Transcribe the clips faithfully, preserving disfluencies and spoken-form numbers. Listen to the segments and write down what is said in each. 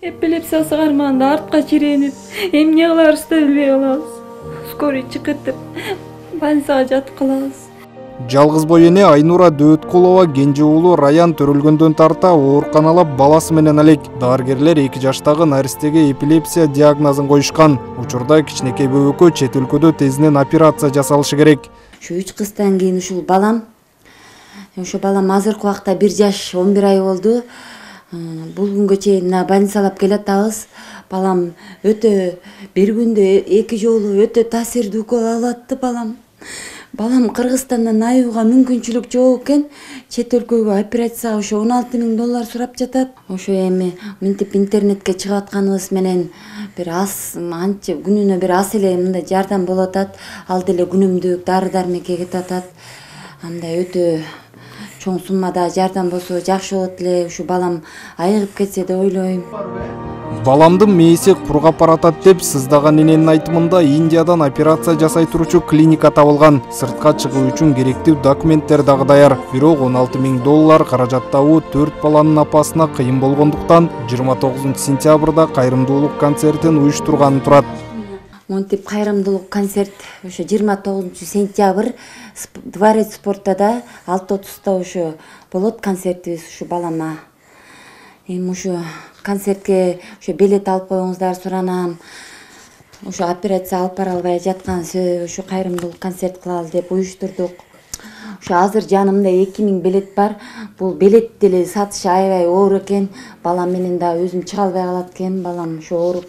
Эпилепсиясы кармаганда артка чиренип, эмне кыларыбызды билбей калабыз. Скорый чыкыт деп больницага жатып калабыз. Жалгыз бой эне Айнура Дөөткулова кенже уулу Раян төрөлгөндөн тарта ооруканалап баласы менен элек. Дарыгерлер эки жаштагы наристеге эпилепсия диагнозун коюшкан. Учурда кичинекей бөбөккө чет өлкөдө тезинен операция жасалышы керек. Ушу үч кыздан кийин ушул балам, ошо балам азыркы убакта бир жаш он бир ай болду. Бул күнгө чейин больницалап келатабыз. Балам өтө бир күндө эки жолу өтө таасирдүү укол алатты балам. Балам Кыргызстандан айууга мүмкүнчүлүк жок экен. Чет өлкөгө операцияга ошо он алты миң доллар сурап жатат. Ошо эми мынтип интернетке чыгып атканыбыз менен бир аз анча күнүнө бир аз эле мындай жардам болуп атат. Ал деле күнүмдүк дары-дармекке кетип атат. Андай өтө чоң суммада жардам болсо жакшы болот эле. Ушу балам айыгып кетсе деп ойлойм. Баламдын мээси кургап баратат деп сыздаган эненин айтымында Индиядан операция жасай туручу клиника табылган. Сыртка чыгуу үчүн керектүү документтер дагы даяр. Бирок он алты миң доллар каражат табуу төрт баланын апасына кыйын болгондуктан жыйырма тогузунчу сентябрда кайрымдуулук концертин уюштурганы турат. Монтип кайрымдуулук концерт ошо жыйырма тогузунчу сентябрь Дворец спортта алты отузда ошо болот концертибиз ушу балама. Эми ушу концертке ошо билет алып коюңуздар суранам. Ошо операция алып бара албай жаткан себеби ушу кайрымдуулук концерт кылалы деп уюштурдук. Ошо азыр жанымда эки миң билет бар. Бул билет деле сатыш аябай оор экен. Балам менен да өзүм чыга албай калат экен. Балам ошо ооруп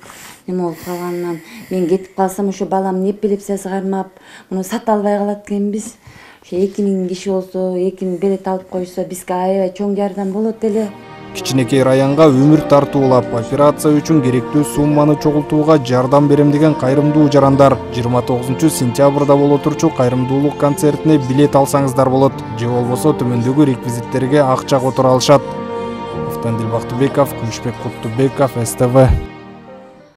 неме болуп калганынан мен кетип калсам ошо баламдын эпилепсиясы кармап, муну сата албай калат экенбиз. Ошо эки миң киши болсо, эки миң билет алып койсо бизге аябай чоң жардам болот эле. Кичинекей Раянга өмүр тартуулап, операция үчүн керектүү сумманы чогултууга жардам берем деген кайрымдуу жарандар жыйырма тогузунчу сентябрда боло турчу кайрымдуулук концертине билет алсаңыздар болот. Же болбосо төмөндөгү реквизиттерге акча которо алышат. Автандил Бактыбеков, Күмүшбек Куттубеков, эс тэ вэ.